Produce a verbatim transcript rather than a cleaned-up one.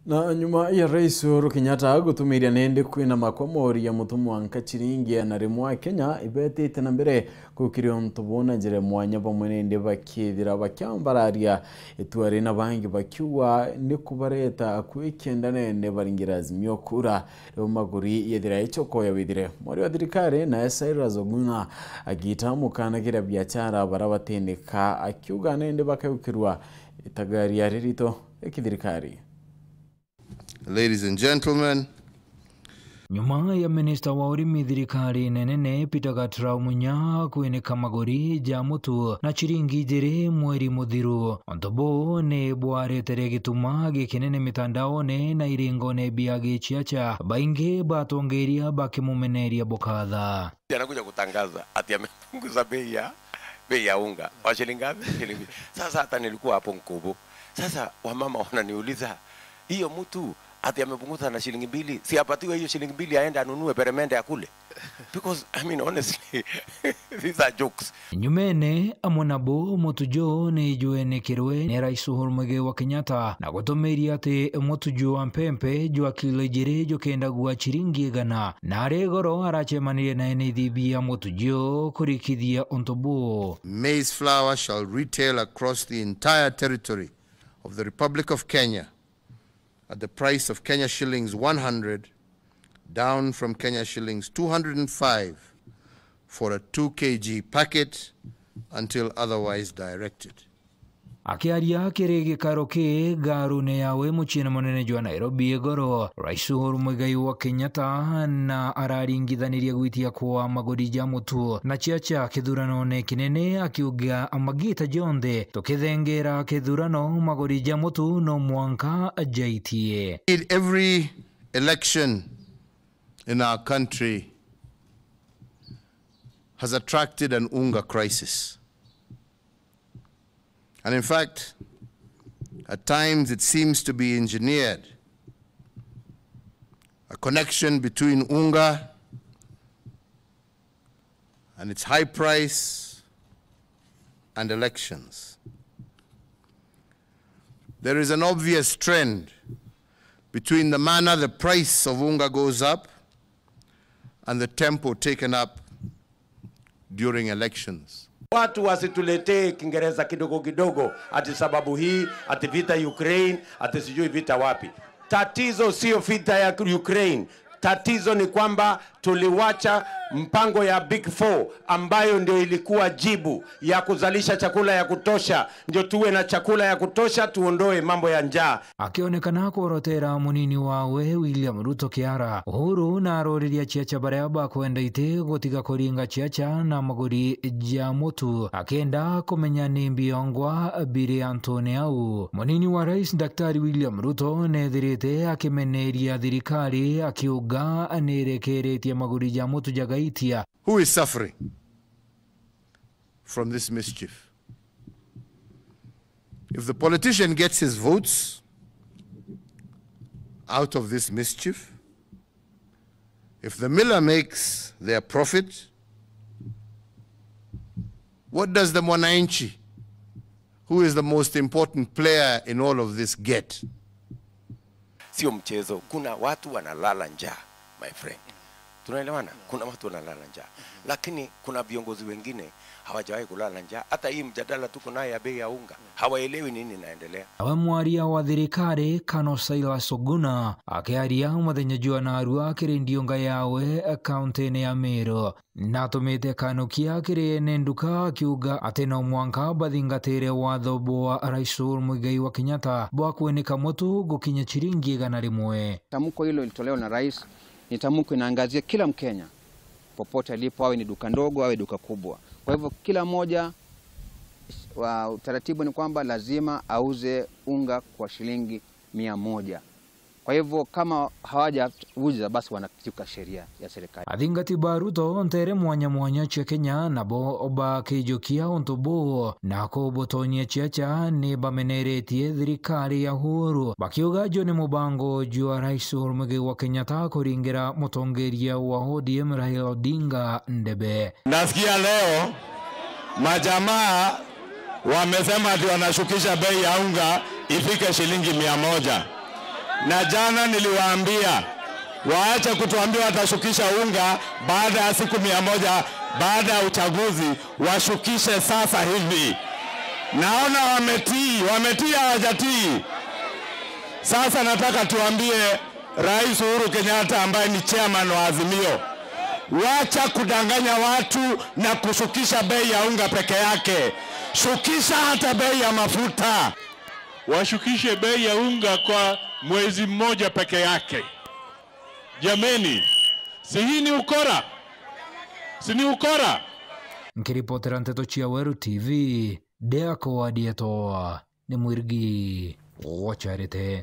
Na nyuma ya Rais Uhuru Kenyatta gutumiria nende kwina makwa mori ya mutu mwanka ciringi igana rimwe a Kenya ibetite na mbere gukiria untu buu na njira ya mwanya, bamwe nende bakithira bakiambararia itua ri na bangi bakiuga ni kubareta akui kenda nende baringira Azimio kura riu maguri yethira icokoya withire. Mori wa thirikari nae Cyrus Oguna agita mukanagira biachara bara batinika akiuga nende bakaukirua itagaria ririto ri kithirikari. Ladies and gentlemen. Nyuma ya minista wa urimi thirikari nene Peter Gatrau Munya kwinika maguri ja mutu na ciringi ijiri mweri muthiru, untu buu ni bwaretere gituma gikinene mitandaone na iringone bia giciaca, baingi batongeria bakimumeneria bukatha. Anakuja kutangaza ati amepunguza bei ya, bei ya unga. Wa shilingi ngapi? Shilingi. Sasa hata nilikuwa hapo Nkubu. Sasa wamama wananiuliza, "Hiyo mtu ati amepunguza na shilingi mbili, si apatiwe hiyo shilingi mbili aende anunue peremende akule?" Because, I mean, honestly, these are jokes. Nyumene amwe nabo mutu juu ni jwenikirwe ni Rais Uhuru Muigai wa Kenyatta na gutumiria ati mutu juu wa mpempe jwa kilo ijiri jukendagua ciringi igana. Na ari goro aracemanirie na ene ithibi ya mutu juu kurikithia untu buu. Maize flour shall retail across the entire territory of the Republic of Kenya at the price of Kenya shillings one hundred, down from Kenya shillings two hundred and five for a two K G packet until otherwise directed. Akiaria kiri gikaro ki ngarune yawe muciine munene jwa Nairobi igoro, Rais Uhuru Muigai wa Kenyatta na araringithaniria gwitia kwa maguri ja mutu na ciaca kithuranone kinene, akiuga magita jonthe tukithengera kithurano maguri ja mutu no mwanka jaitie. Indeed, every election in our country has attracted an unga crisis. And in fact, at times it seems to be engineered, a connection between unga and its high price and elections. There is an obvious trend between the manner the price of unga goes up and the tempo taken up during elections. Watu wasituletee Kiingereza kidogo kidogo, ati sababu hii, ati vita Ukraine, ati sijui vita wapi. Tatizo sio vita ya Ukraine. Tatizo ni kwamba tuliwacha mpango ya Big Four ambayo ndio ilikuwa jibu ya kuzalisha chakula ya kutosha, ndio tuwe na chakula ya kutosha, tuondoe mambo ya njaa. Akionekana kworotera munini wawe William Ruto kiara, Uhuru na aroriria ciaca baria bakwenda iti gutiga kuringa ciaca na maguri ja mutu, akienda kumenya ni mbiongwa biri antune au. Munini wa rais Daktari William Ruto nethirite akimeneria thirikari akiuga nirekeretie maguri ja mutu jagaitia. Who is suffering from this mischief? If the politician gets his votes out of this mischief, if the miller makes their profit, what does the mwananchi, who is the most important player in all of this, get? Sio mchezo. Kuna watu wanalala njaa, my friend. Tunaelewana? Kuna watu wanalala njaa. Lakini kuna viongozi wengine hawajawahi kulala njaa. Hata hii mjadala tuko nayo ya bei ya unga, hawaelewi nini inaendelea. Nawe mwaria wa thirikari, Kano Silas Oguna, akiaria muthenya jwa narua kiri ndiunga yawe kaunti-ini ya Meru, natumite kanukia kiri ene nduka akiuga ati no mwanka bathingatire watho bwa Rais Uhuru Muigai wa Kenyatta bwa kwinika mutu gukinya ciringi igana rimwe. Tamko hilo lilitolewa na rais, ni tamko inaangazia kila Mkenya, popote alipo, awe ni duka ndogo, awe duka kubwa. Kwa hivyo kila mmoja, wa, utaratibu ni kwamba lazima auze unga kwa shilingi mia moja. Kwa hivyo kama hawajauza, basi wanakiuka sheria ya serikali. Athingati ba Ruto ntere mwanya mwanya cia Kenya nabo bakijukia untu buu na kubutonyia ciaca ni bameneretie thirikari ya Uhuru, bakiuga juu ni mubango jwa Rais Uhuru Muigai wa Kenyatta kuringira mutongeria wa O D M Raila Odinga ndebe. Nasikia leo majamaa wamesema ati wanashukisha bei ya unga ifike shilingi mia moja. Na jana niliwaambia waache kutuambia watashukisha unga baada ya siku mia moja baada ya uchaguzi, washukishe sasa hivi. Naona wametii, wametii hawajatii? Sasa nataka tuambie Rais Uhuru Kenyatta ambaye ni chairman wa Azimio, wacha kudanganya watu na kushukisha bei ya unga peke yake. Shukisha hata bei ya mafuta. Washukishe bei ya unga kwa mwezi mmoja peke yake. Jameni, si hii ni ukora? Si ni ukora? Nkiripotera nteto cia Weru T V, Deaco wa Dietoa, ni Mwirigi wa Charity.